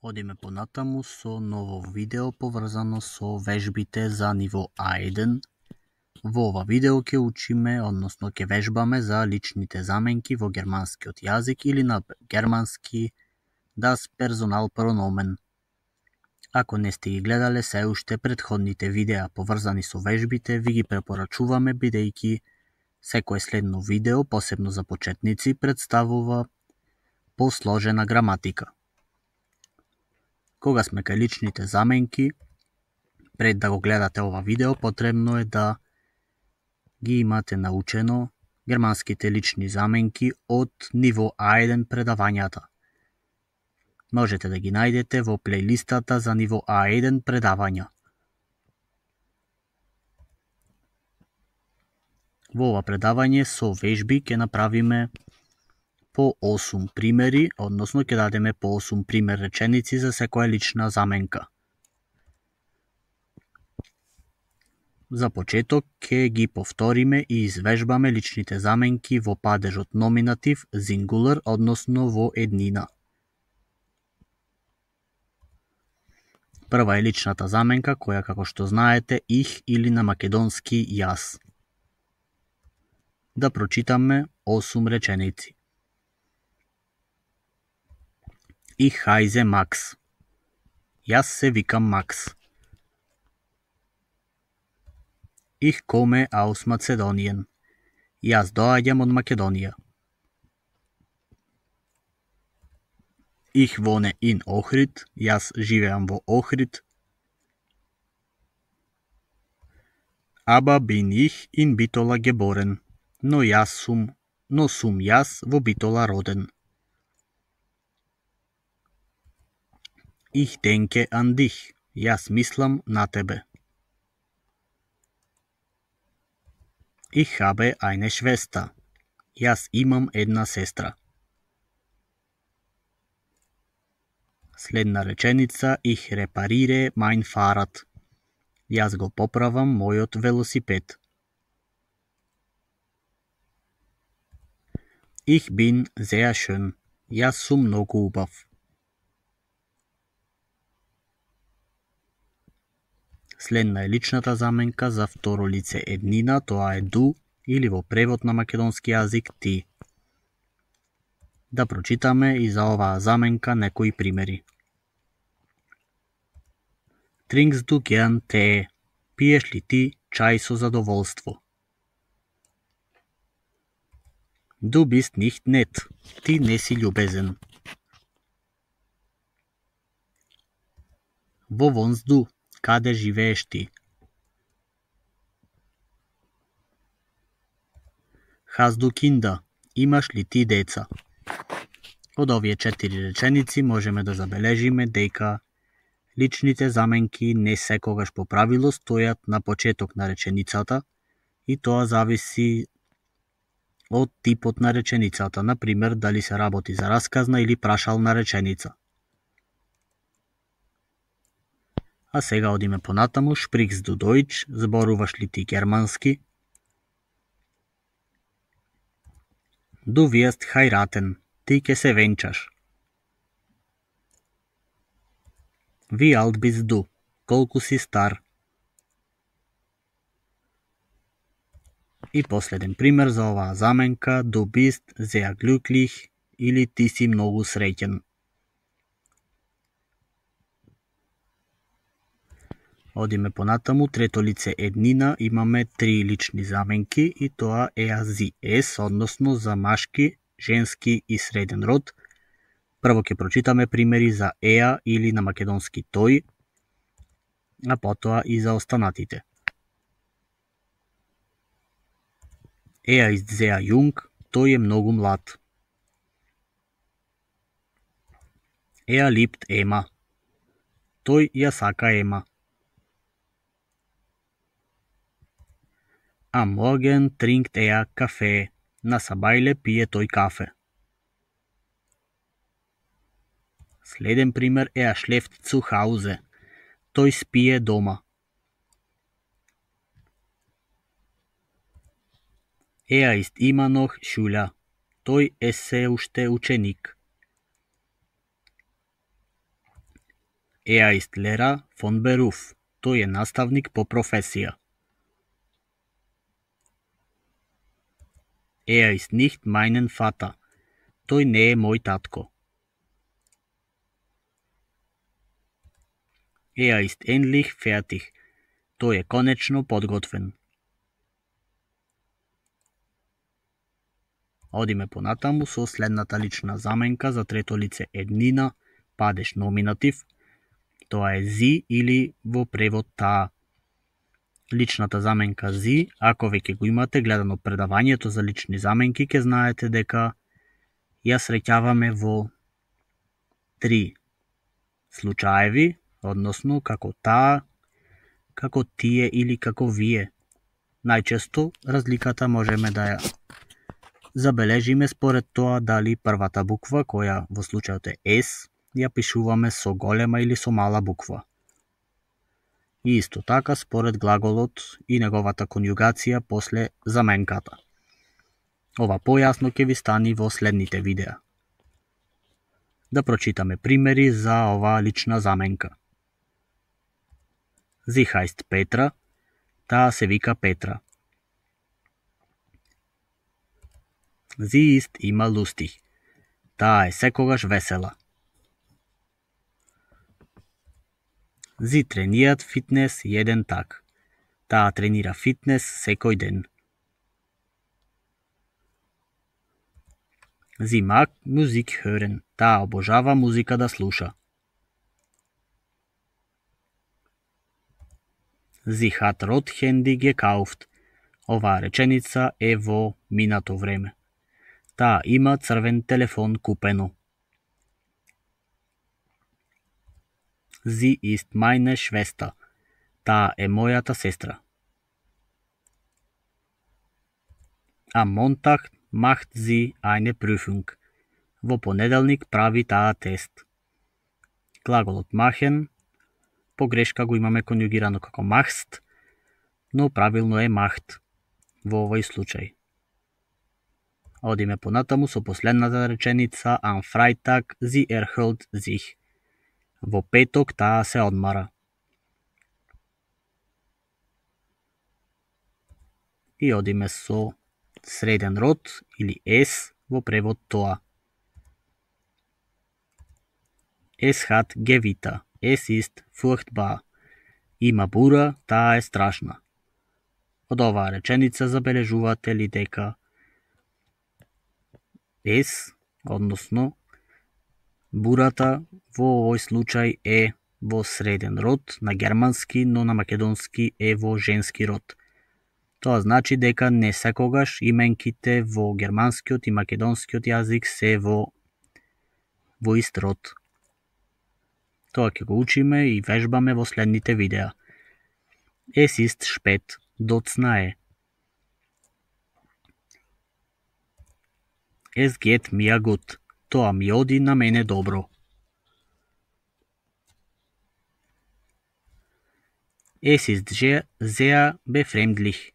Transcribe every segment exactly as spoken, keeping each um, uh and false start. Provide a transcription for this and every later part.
Одиме понатаму со ново видео поврзано со вежбите за ниво А еден. Во ова видео ќе учиме, односно ќе вежбаме за личните заменки во германскиот јазик или на германски das Personalpronomen. Ако не сте ги гледале се уште претходните видеа поврзани со вежбите, ви ги препорачуваме бидејќи секое следно видео, посебно за почетници, представува посложена граматика. Кога сме кај личните заменки, пред да го гледате ова видео, потребно е да ги имате научено германските лични заменки од ниво А еден предавањата. Можете да ги најдете во плейлистата за ниво А еден предавања. Во ова предавање со вежби ќе направиме по осум примери, односно ќе дадеме по осум пример реченици за секоја лична заменка. За почеток ќе ги повториме и извежбаме личните заменки во падежот номинатив, зингулар, односно во еднина. Прва е личната заменка која, како што знаете, их или на македонски јас. Да прочитаме осум реченици. Ich heiße Max. Јас се викам Макс. Ich komme aus Mazedonien. Јас доаѓам од Македонија. Ich wohne in Ohrid. Јас живеам во Охрид. Aber bin ich in Bitola geboren. Но јас сум, но сум јас во Битола роден. Ich denke an dich. Јас мислам на тебе. Ich habe eine Schwester. Јас имам една сестра. Следна реченица, ich repariere mein Fahrrad. Јас го поправам мојот велосипед. Ich bin sehr schön. Јас сум многу убав. Следна е личната заменка за второ лице еднина, тоа е du, или во превод на македонски јазик ти. Да прочитаме и за оваа заменка некои примери. Trinkst du gern Tee? Пиеш ли ти чај со задоволство? Du bist nicht nett. Ти не си љубезен. Wo wohnst du? Каде живееш ти? Hast du Kinder? Имаш ли ти деца? Од овие четири реченици можеме да забележиме дека личните заменки не секогаш по правило стојат на почеток на реченицата и тоа зависи од типот на реченицата, например дали се работи за расказна или прашална реченица. А сега одиме понатаму, sprichst du Deutsch, зборуваш ли ти германски? Du wirst heiraten, ти ќе се венчаш. Wie alt bist du, колку си стар? И последен пример за оваа заменка, du bist sehr glücklich или ти си многу среќен. Одиме понатаму, трето лице еднина, имаме три лични заменки и тоа е ази ес, односно за машки, женски и среден род. Прво ќе прочитаме примери за еа или на македонски тој, а потоа и за останатите. Er ist sehr jung, тој е многу млад. Er liebt Emma. Тој ја сака Ема. Am Morgen trinkt er Kaffee. На сабајле пие тој кафе. Следен пример е er schläft zu Hause. Тој спие дома. Er ist immer noch Schüler. Тој е се уште ученик. Er ist Lehrer von Beruf. Тој е наставник по професија. Er ist nicht mein Vater. Тој не е мој татко. Er ist endlich fertig. Тој е конечно подготвен. Одиме понатаму со следната лична заменка за трето лице еднина, падеш номинатив. Тоа е зи или во превод таа. Личната заменка зи, ако веќе го имате гледано предавањето за лични заменки, ќе знаете дека ја среќаваме во три случаеви, односно како таа, како тие или како вие. Најчесто разликата можеме да ја забележиме според тоа дали првата буква, која во случајот е S, ја пишуваме со голема или со мала буква. И исто така според глаголот и неговата конјугација после заменката. Ова појасно ќе ви стани во следните видеа. Да прочитаме примери за ова лична заменка. Sie heißt Petra, таа се вика Петра. Sie ist immer lustig, таа е секогаш весела. Sie trainiert Fitness jeden Tag, таа тренира фитнес секој ден. Sie mag Musik hören, таа обожава музика да слуша. Sie hat rot Handy gekauft. Оваа реченица е во минато време. Таа има црвен телефон купено. Sie ist meine Schwester. Таа е мојата сестра. Am Montag macht sie eine Prüfung. Во понеделник прави таа тест. Глаголот machen, погрешка го имаме конјугирано како machst, но правилно е macht во овој случај. Одиме понатаму со последната реченица am Freitag sie erholt sich. Во петок таа се одмара. И одиме со среден род или S во превод тоа. Es hat Gewitter. Es ist furchtbar. Има бура, таа е страшна. Од оваа реченица забележувате ли дека S, односно бурата во овој случај е во среден род на германски, но на македонски е во женски род. Тоа значи дека не секогаш именките во германскиот и македонскиот јазик се во во ист род. Тоа ќе го учиме и вежбаме во следните видеа. Es ist spät, доцна е. Es geht mir gut, тоа ми оди на мене добро. Es ist sehr befremdlich,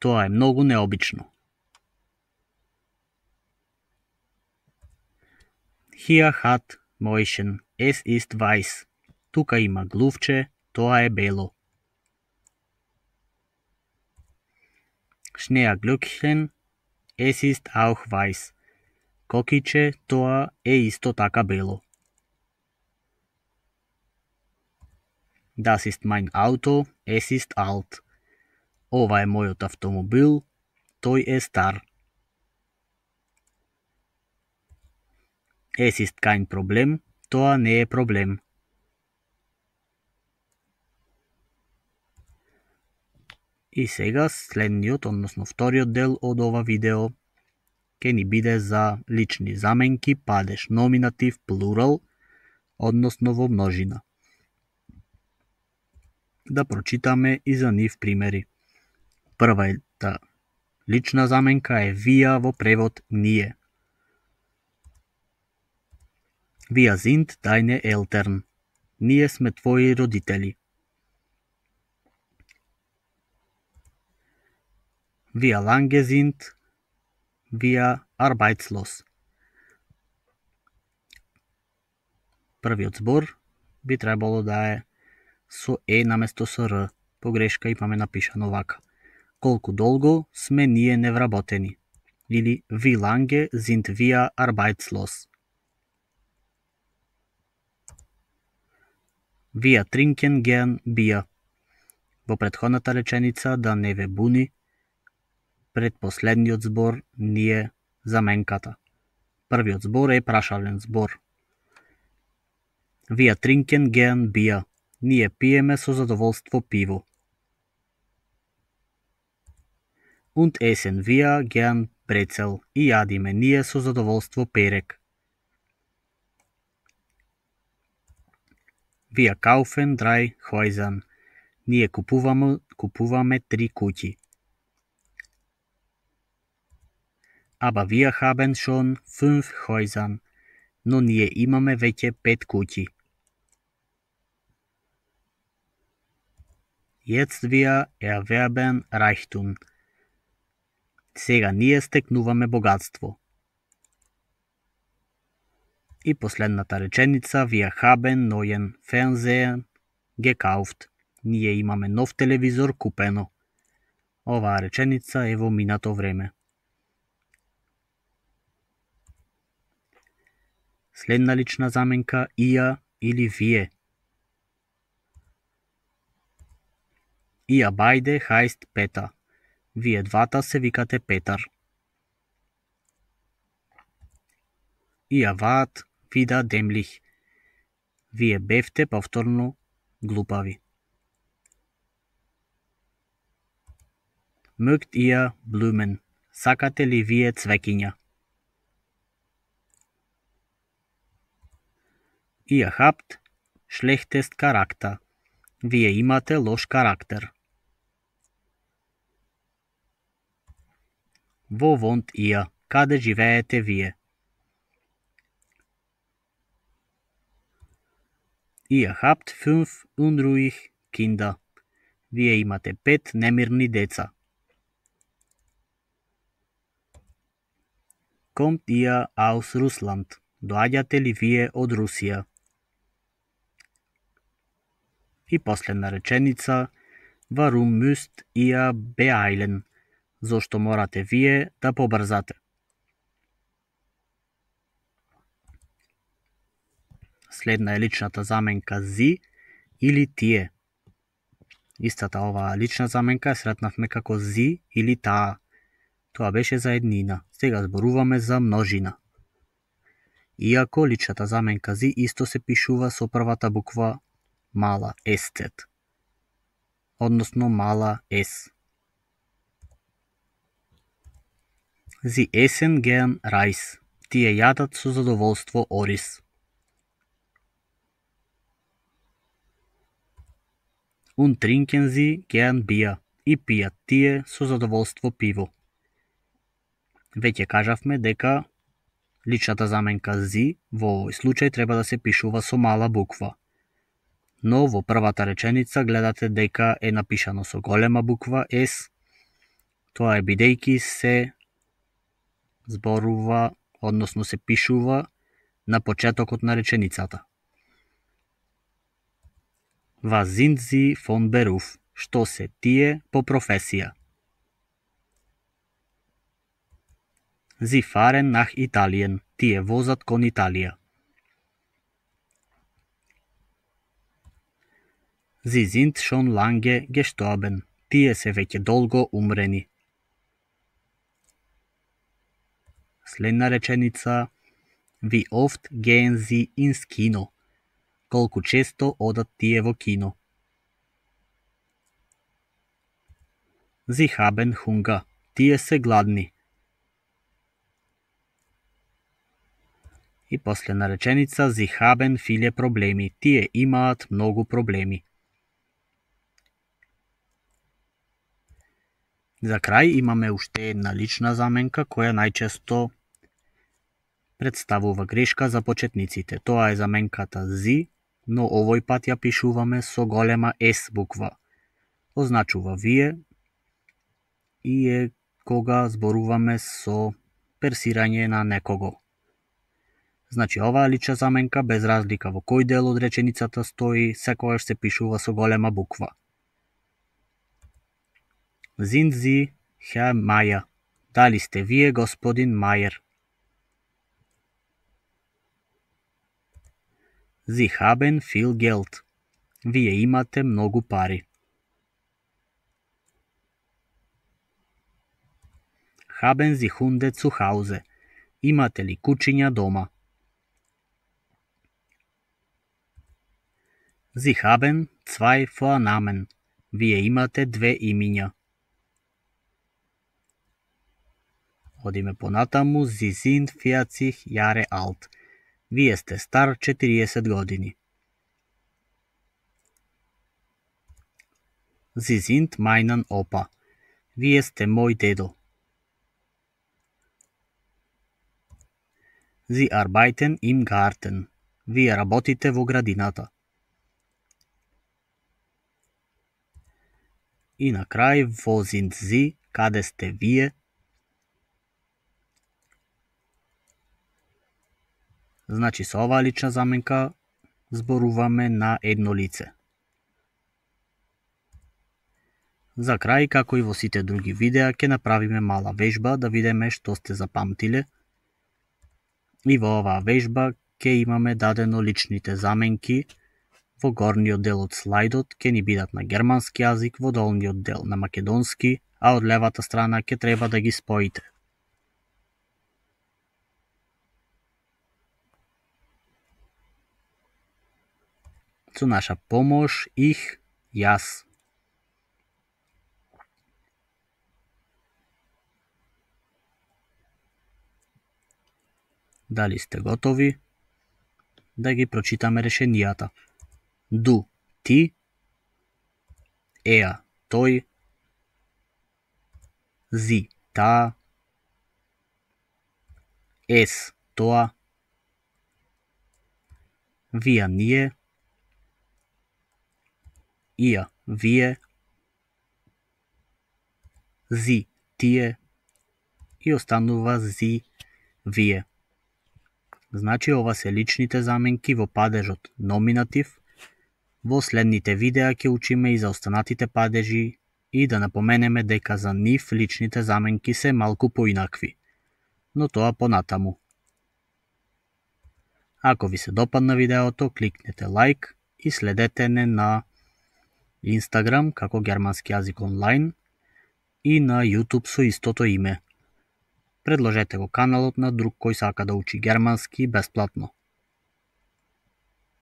тоа е многу необично. Hier hat Mäuschen, es ist weiß. Тука има глувче, тоа е бело. Schneeglöckchen, es ist auch weiß. Кокиче, тоа е исто така бело. Das ist mein Auto, es ist alt. Ова е мојот автомобил, тој е стар. Es ist kein Problem, тоа не е проблем. И сега следниот, односно вториот дел од ова видео ќе ни биде за лични заменки, падеш номинатив, плурал, односно во множина. Да прочитаме и за нив примери. Првата лична заменка е вија во превод ние. Wir sind deine Eltern. Ние сме твои родители. Wir lange sind wir arbeitslos. Првиот збор би требало да е со е наместо со р. Погрешка имаме напишано вака. Колку долго сме ние невработени? Или wie lange sind wir arbeitslos? Wir trinken gern Bier. Во претходната реченица да не ве буни, пред последниот збор ние заменката. Првиот збор е прашален збор. Wir trinken gern Bier. Ние пиеме со задоволство пиво. Und essen wir gern Brezel. И јадиме ние со задоволство перек. Wir kaufen drei Häuser. Ние купуваме, купуваме три куќи. Aber wir haben schon fünf Häuser. Но ние имаме веќе пет куќи. Jetzt wir erwerben Reichtum. Сега ние стекнуваме богатство. И последната реченица, wir haben neuen Fernseher gekauft. Ние имаме нов телевизор купено. Оваа реченица е во минато време. Следна лична заменка ihr или вие. Ihr beide heißt Peter. Вие двата се викате Петар. Ihr wart wieder dämlich. Вие бевте повторно глупави. Mögt ihr Blumen? Сакате ли вие цвекиња? Ihr habt schlechtest Charakter. Вие имате лош карактер. Wo wohnt ihr? Каде живеете вие? Ihr habt fünf unruhig Kinder. Вие имате пет немирни деца. Kommt ihr aus Russland? Доаѓате ли вие од Русија? И последна реченица, warum müsst ihr beeilen? Зошто морате вие да побрзате? Следна е личната заменка зи или тие. Истата оваа лична заменка сретнавме како зи или таа. Тоа беше за еднина. Сега зборуваме за множина. Иако личната заменка зи исто се пишува со првата буква мала СЦ, односно мала С. Sie essen gern Reis. Тие јадат со задоволство ориз. Und trinken sie gern Bier. И пијат тие со задоволство пиво. Веќе кажавме дека личната заменка зи во овој случај треба да се пишува со мала буква. Но во првата реченица гледате дека е напишано со голема буква С. Тоа е бидејќи се зборува, односно се пишува на почетокот на реченицата. Was sind sie von Beruf? Што се тие по професија? Sie fahren nach Italien. Тие возат кон Италија. Sie sind schon lange gestorben. Тие се веќе долго умрени. Следна реченица, wie oft gehen sie ins Kino? Колку често одат тие во кино? Sie haben Hunger. Тие се гладни. И последна реченица, sie haben viele Probleme. Тие имаат многу проблеми. За крај имаме уште една лична заменка која најчесто представува грешка за почетниците. Тоа е заменката зи, но овој пат ја пишуваме со голема С буква. Означува вие и е кога зборуваме со персирање на некого. Значи оваа лична заменка без разлика во кој дел од реченицата стои, секогаш се пишува со голема буква. Sind Sie Herr Meier? Дали сте вие господин Мајер? Sie haben viel Geld. Вие имате многу пари. Haben Sie Hunde zu Hause? Имате ли кучиња дома? Sie haben zwei Vornamen. Вие имате две имиња. Одиме понатаму. Sie sind vierzig Jahre alt. Вие сте стар четириесет години. Sie sind meinen Opa. Вие сте мој дедо. Sie arbeiten im Garten. Вие работите во градината. И на крај, wo sind Sie? Каде сте вие? Значи со оваа лична заменка зборуваме на едно лице. За крај, како и во сите други видеа, ќе направиме мала вежба да видиме што сте запамтиле. И во оваа вежба ќе имаме дадено личните заменки. Во горниот дел од слайдот ќе ни бидат на германски јазик, во долниот дел на македонски, а од левата страна ќе треба да ги споите. Со наша помош, их, јас. Дали сте готови да ги прочитаме решенијата? Du, ти, er, тој, sie, таа, es, тоа, wir, ние, ihr, вие, sie, тие и останува sie, вие. Значи ова се личните заменки во падежот номинатив. Во следните видеа ќе учиме и за останатите падежи и да напоменеме дека за нив личните заменки се малку поинакви, но тоа понатаму. Ако ви се допадна видеото, кликнете лайк и следете не на Instagram како германски јазик онлайн и на YouTube со истото име. Предложете го каналот на друг кој сака да учи германски бесплатно.